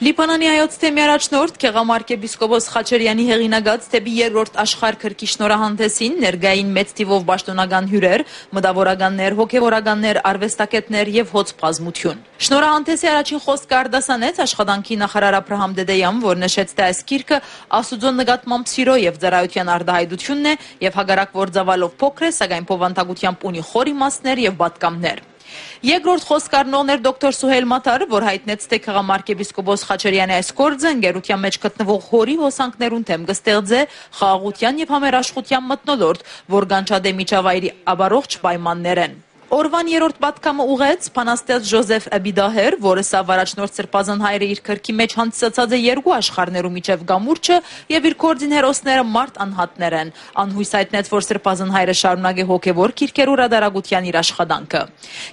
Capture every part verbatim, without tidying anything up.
Լիբանանի հայոց թեմի առաջնորդ Գեղամարք եպիսկոպոս Խաչերյանի հեղինակած դէպի երկրորդ աշխարհ գրքի շնորհահանդէսին ներկային մեծ թիւով պաշտօնական հիւրեր, մտաւորականներ, հոգեւորականներ, արուեստագետներ եւ հոծ բազմութիւն։ Շնորհահանդէսի առաջին խօսքը արտասանեց աշխատանքի նախարար Աբրահամ Տետեան, որ նշեց, թէ այս գիրքը Աստուծոյ նկատմամբ սիրոյ եւ ծառայութեան արտայայտութիւնն է եւ հակառակ որ ծաւալով փոքր է, սակայն բովանդակութեամբ ունի խոր իմաստներ եւ պատգամներ։ Երկրորդ խօսքը առնողն էր դոկտոր Սուհեյլ Մաթար, որ յայտնեց, թէ Գեղամարք եպիսկոպոս Խաչերյանի այս գործը ընկերութեան մէջ գտնուող հորի հոսանքներուն դէմ կը ստեղծէ խաղաղութեան եւ համերաշխութեան մթնոլորտ, որ կանչատէ միջավայրի ապառողջ պայմաններէն։ Օրուան երրորդ պատգամը ուղղեց բանաստեղծ Ժոզեֆ Էպիդահեր, որ ըսաւ առաջնորդ Սրբազան Հայրը իր գրքի մէջ հանդիսացած է երկու աշխարհներու միջեւ կամուրջը եւ իր գործին հերոսները մարդ անհատներ են։ Ան յոյս յայտնեց, որ Սրբազան Հայրը շարունակէ հոգեւոր գիրքերու հրատարակութեան իր աշխատանքը։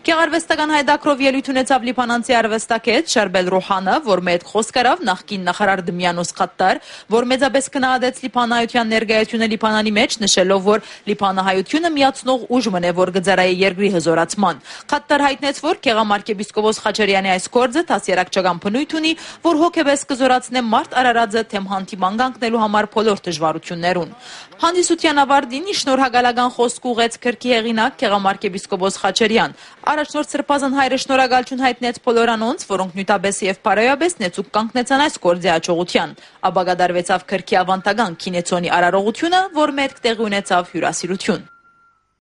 Գեղարուեստական հայ դակրով ելոյթ ունեցաւ լիբանանցի արուեստագետ Շարբել Ռուհանը, որ մէտ խօսք առաւ նախկին նախարար Դմիանոս Քատտար, որ մեծապէս գնահատեց լիբանայութեան ներկայութիւնը Լիբանանի մէջ, նշելով, որ լիբանահայութիւնը միացնող ուժ մըն է, որ կը ծառայէ երկրի հզօրացման։ Քատտար յայտնեց, որ Գեղամարք եպիսկոպոս Խաչերյանի այս գործը դասերակցական բնոյթ ունի, որ հոգեպէս կը զօրացնէ մարդ արարածը դէմ հանդիման կանգնելու համար բոլոր դժվարութիւններուն։ Հանդիսութեան աւարտին շնորհակալական խօսք ուղղեց գրքի հեղինակ Գեղամարք եպիսկոպոս Խաչերյան։ Առաջնորդ Սրբազան Հայրը շնորհակալութիւն յայտնեց բոլոր անոնց, որոնք նիւթապէս եւ բարոյապէս նեցուկ կանգնեցան այս գործի յաջողութեան։ Ապա կատարուեցաւ գրքի աւանդական գինեցոնի արարողութիւնը, որ մէտ տեղի ունեցաւ հիւրասիրութիւն։